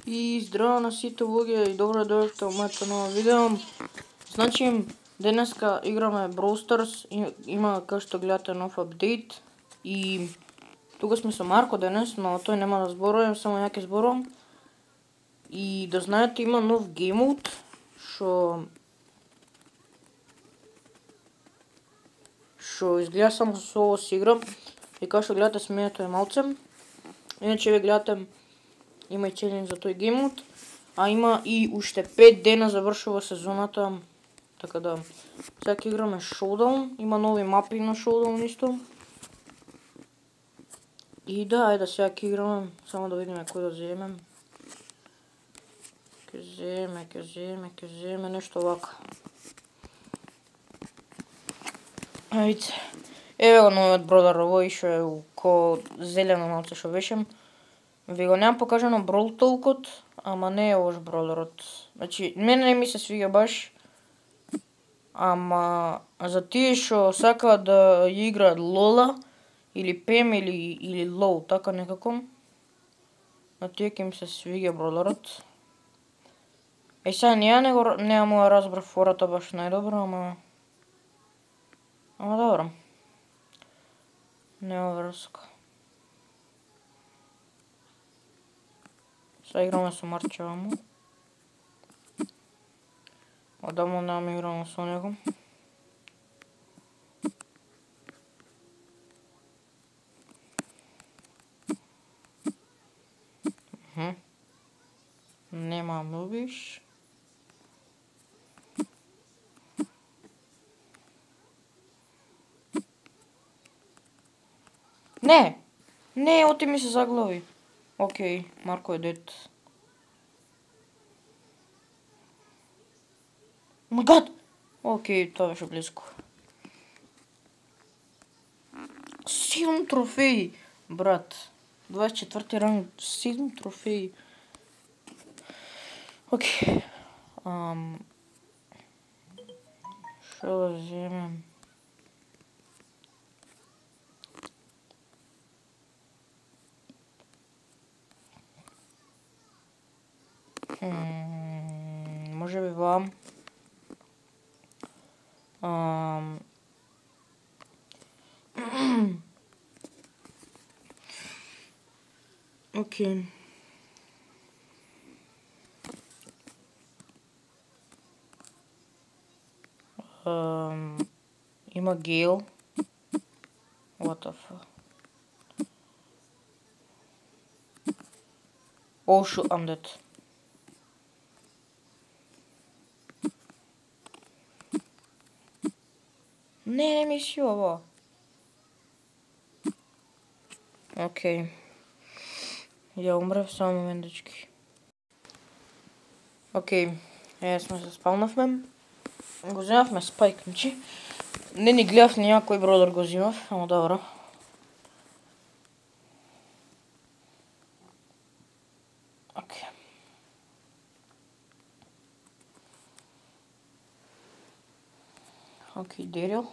И здраво на сите луѓе и добро дојдовте во моето ново видео. Значи, денеска играме Brawl Stars, има како што гледате нов апдейт и тука сме со Марко денес, но тој нема да зборувам, само ја ќе зборувам. И да знаете има нов game mode, што изгледа само со ово си играм и како што гледате смеето е малце. Иначе ве гледате има и челендж за тој game mode, а има и уште 5 дена завршува сезоната, така да сега ќе играме Showdown, има нови мапи на Showdown исто. И да, ајде сега ќе играме, само да видиме кој да земем. Ќе земе нешто вака. Ајде. Еве го новиот бродер, овој што е ко зелено малце што беше. Ви го немам покажано Brawl Talk-от, ама не е лош бродерот. Значи, мене не ми се свига баш. Ама за тие што сакаат да ја играат Лола или Пем или Лоу, така некако. На тие ќе им се свига бродерот. Сега не му ја разбрав фората баш најдобро, ама добро. Нема врска. Сега играме со Марчевамо. Одамно немам играно со него. Нема мубиш. Не, оти ми се заглави. Океј, Марко е дед. Oh my god! Океј, тоа беше близко. 7 трофеи, брат. 24 ранг, 7 трофеи. Океј. Шо да земем? Може би вам. Окей. Има Гейл. What the fuck? Oh shoot, I'm dead. Не ми си ова. Океј. Ја умрев само моментички. Океј. Сме се спалнавме. Го земавме спайк, значи. Не ни гледав ни кој бродер го земав, ама добро. Океј. Океј, Дерил.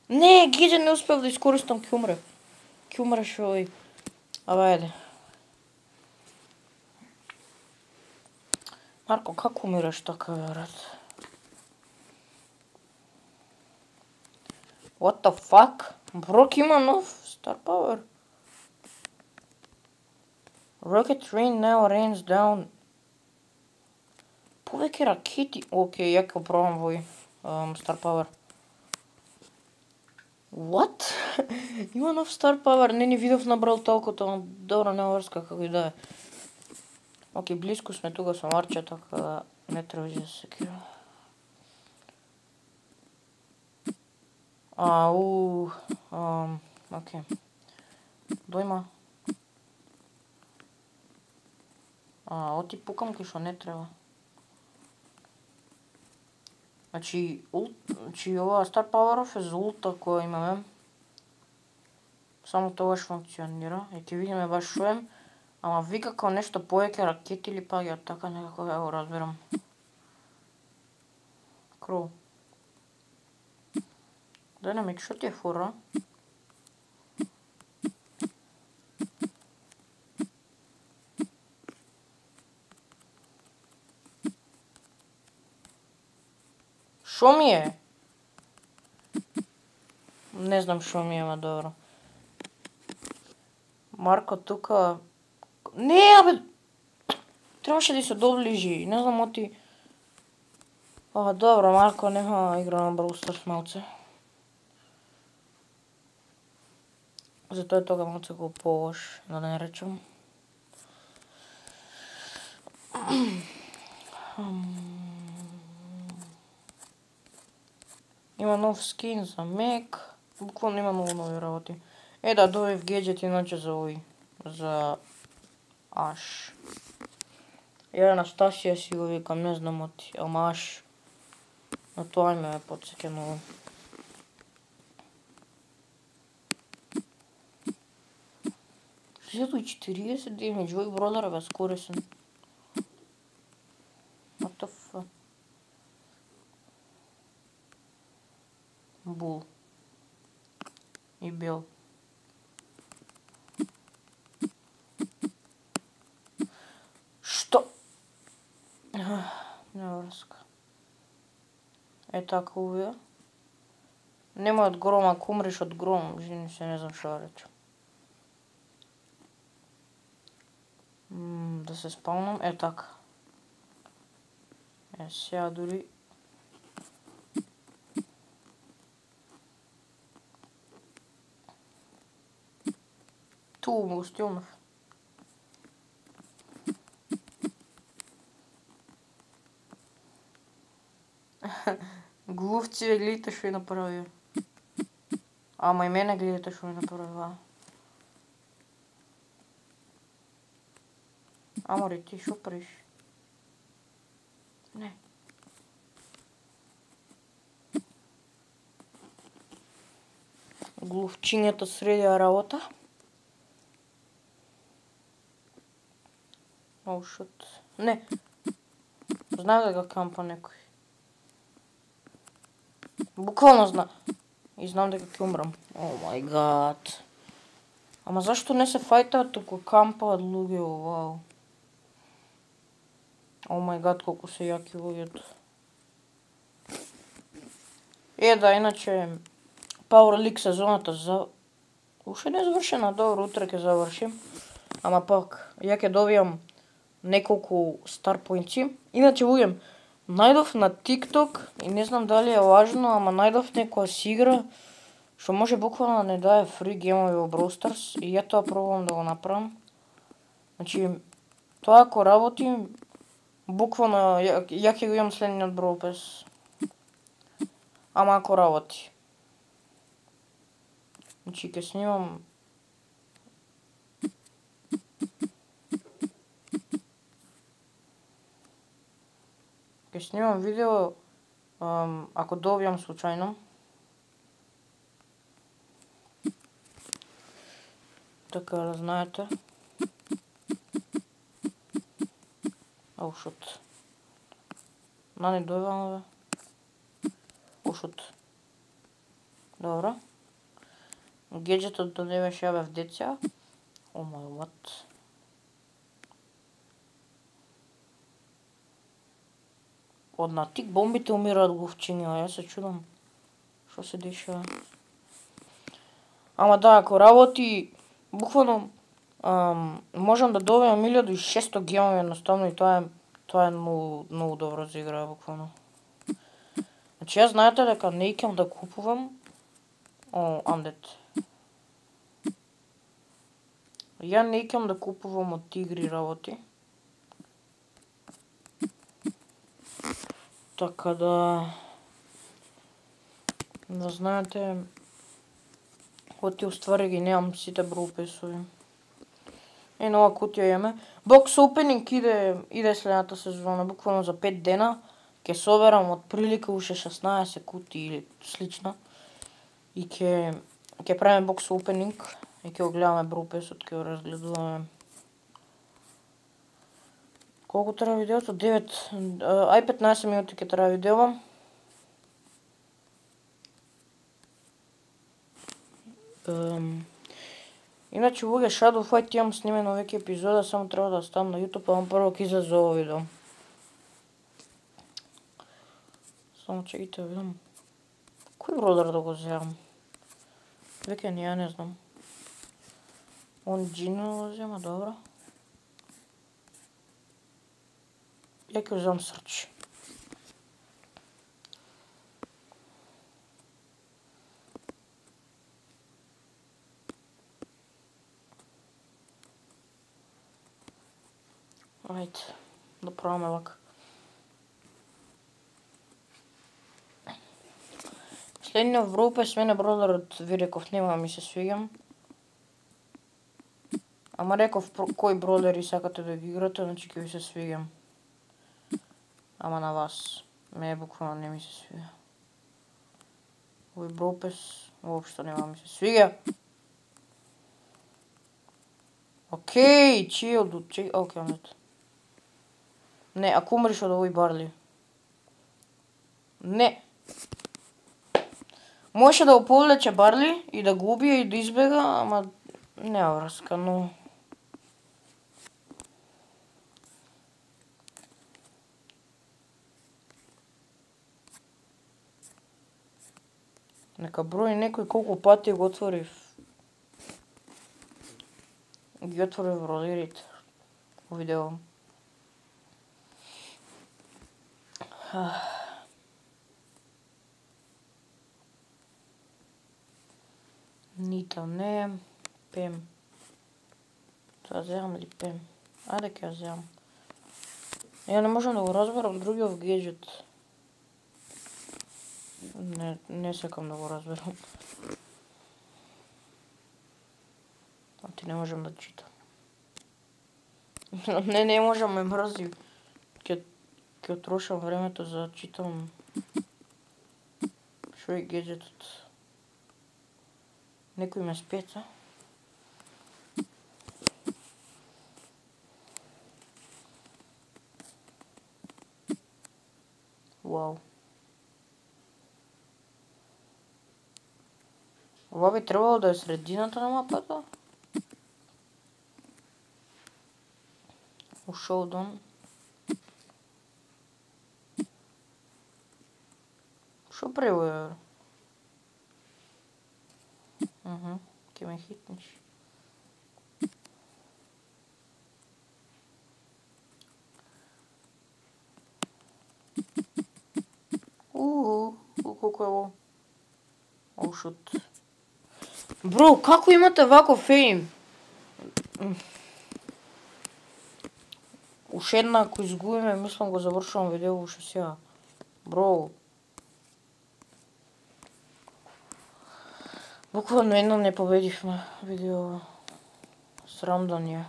Не, Гиджа не успев да искористам, ќе умре. Ќе умреш овој. Абе, ајде. Марко, како умираш така, брат? What the fuck? Брок има нов Star Power. Rocket Rain now rains down. Повеќе ракети. Океј, ја ќе пробам овој Star Power. What? Има нов Star Power, не ни видов на Brawl Talk-от, ама добро, нема врска како и да е. Океј, близко сме тука со Марче, така да не треба да се секира. Океј. Дојма. Оти пукам кој што не треба. Значи ова Star Power-ов е за улта која имаме. Само тогаш функционира. И ќе видиме баш шо е. Ама вика како нешто повеќе ракети или паѓаат, така некако ја го разбирам. Кроу. Dynamic, што ти е фора? Шо ми е? Не знам шо ми е, ма добро. Марко тука... Не, абе! Требаше да се доближи, не знам оти... Добро, Марко нема игра на Brawl Stars малце. Затоа е тога малце го полош, да не речем. Има нов скин за Мек. Буквално има много нови работи. Да, добив гаджет иначе за овој. За Аш. Ја Анастасија си го викам, не знам оти. Ама Аш. На тоа име ме потсеќа многу. Зето и 40 демидж, овој бродер е бескорисен. What the fuck? Бул. И бел. Што? Нема врска. Така увија. Немој од гром, ако умреш од гром, жени се не знам што да речем. Да се спавнам, така. Сега дури... Ту му стилнав. Глувци, гледате што ја направија. Ама и мене гледате што ја направија. Амори, ти шо правиш? Не. Глувчињата средија работа. Оу, шут. Не. Знам дека кампа некој. Буквално знам. И знам дека ќе умрам. О мај гад. Ама зашто не се фајтаат, туку кампаат луѓе, вау. О мај гад, колку се јаки луѓето. Да, иначе Power League сезоната уште не е завршена, добро, утре ќе завршим. Ама пак, ја ќе добијам неколку стар поинци. Иначе луѓе, најдов на TikTok и не знам дали е важно, ама најдов некоја си игра што може буквално да не дае фри геймови во Brawl Stars и ја тоа пробувам да го направам. Значи, тоа ако работи, буквално ја ќе го имам следниот Brawl Pass. Ама ако работи. Значи, ќе снимам... Ќе снимам видео ако добијам случајно. Така да знаете. Оу, шут. Не добивам, бе. Оу, шут. Добро. Гаджетот да не беше, ја бев деца. О мај what? Од на тик бомбите умираат глувчиња, јас се чудам. Што се дешава? Ама да, ако работи, буквално можам да добијам 1600 гемови едноставно и тоа е многу добро за игра, буквално. Значи, јас знаете дека не икам да купувам... I'm dead. Ја не икам да купувам од игри работи. Така да знаете, оти уствари ги немам сите Brawl Pass-ови. Нова кутија имаме. Box Opening иде следната сезона, буквално за 5 дена. Ќе соберам од прилика уште 16 кути или слично. И ќе правиме Box Opening и ќе го гледаме Brawl Pass-от, ќе го разгледуваме. Колку трае видеото? 15 минути ќе трае видео. Иначе луѓе, Shadow Fight имам снимено веќе епизода, само треба да ставам на YouTube, ама прво ќе излезе ово видео. Само чекайте да видам. Кој бродер да го земам? Веќе ја не знам. Он Джино го зема, добро. Ја ќе земам Срч. Ајде, да пробаме вака. Следниот Вропес мене бродерот ви реков нема ми се свиѓам. Ама реков кој бродери сакате да ги играте, значи ќе ви се свиѓам. Ама на вас. Мене буквално не ми се свиѓа. Овој Вропес воопшто нема ми се свиѓа. Океј, чилд, океј, амет. Не, ако умреш од овој Барли. Не. Може да го повлече Барли и да го убие и да избега, ама нема врска, но... Нека брои некој колку пати го отворив. Ги отворив бродерите. Видео. Нита не, Пем. Тоа земам ли Пем? Ајде ќе ја земам. Ја не можам да го разберам другиот геджет. Не сакам да го разберам. А ти не можам да читам. Не можам, ме мрзи. Ќе трошам времето за да читам. Шо е геджетот? Некој ме спеца. Вау. Ова би требало да е средината на мапата. У Шоудон. Шо превоја? Ке ме хитнеш. Колко е ово? Оу, шут. Бро, како имате вако фейм? Уште една, ако изгубиме, мислам го завршувам видео уште сега. Бро. Буквално едно не победивме видео. Срам да ни е.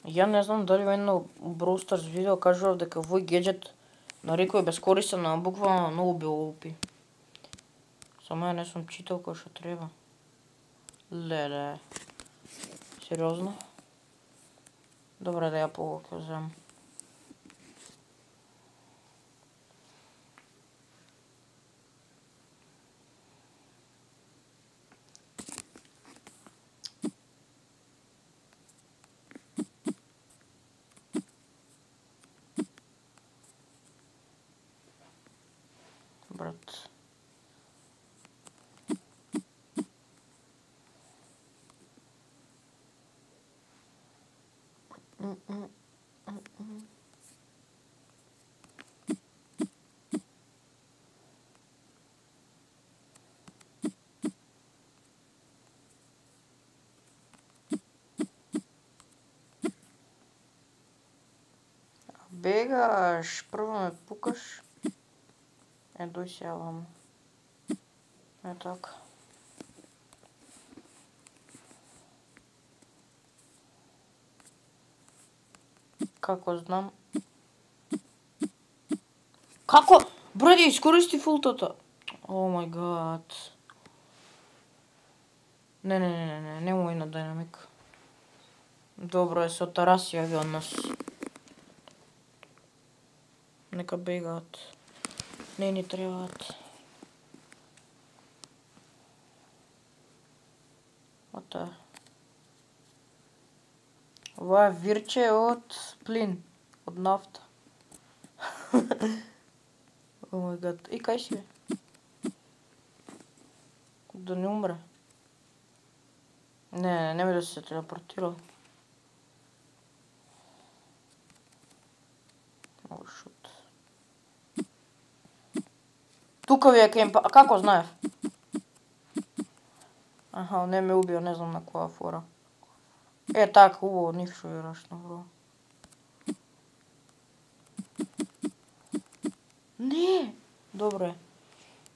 Ја не знам дали во едно Brawl Stars видео кажував дека овој геджет нарекој бескорисен, а буквално многу било OP. Само ја не сум читал кој што треба. Леле. Сериозно? Добре, да ја повоќе земам. Брат. Бегаш, прво ме пукаш. Дој се јавам. Така. Како знам? Како? Бради, искористи фултата. О мај гад. Не мој на динамик. Добро е, со Тараси јави од нас. Нека бегаат. Не ни требаат. Ота. Ова е вирче од плин, од нафта. О май гад. И кај си бе? Да не умре. Не би да се телепортирал. О, шут. Тука ви е кемпа. А како знаев? Аха, не ме убио, не знам на која фора. Така, убаво, ништо верашно, бро. Не! Добро е.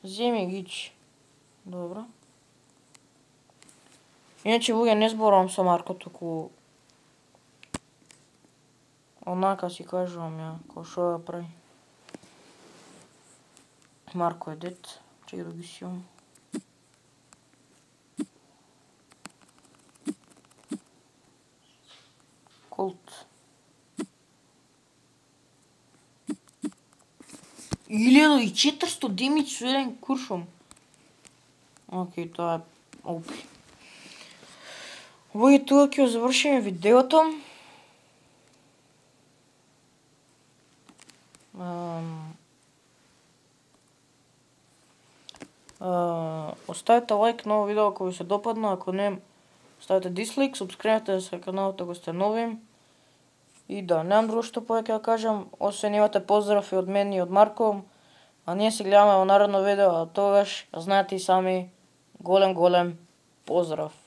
Земи гич. Добро. Иначе, луѓе, не зборувам со Марко, туку... Онака си кажувам ја, кој шо ја прави. Марко е дет, чекай да ги си имам. Колт. 1400 демидж со еден куршум. Окей, тоа е опи. Луѓе, тука ќе завршиме видеото. Оставете лайк на ово видео ако ви се допадна, ако не, ставете дислайк, субскрибнете се каналот ако сте нови. И да, немам друго што повеќе да кажам, освен имате поздрав и од мен и од Марко, а ние се гледаме во наредно видео, а тогаш знаете и сами, голем поздрав.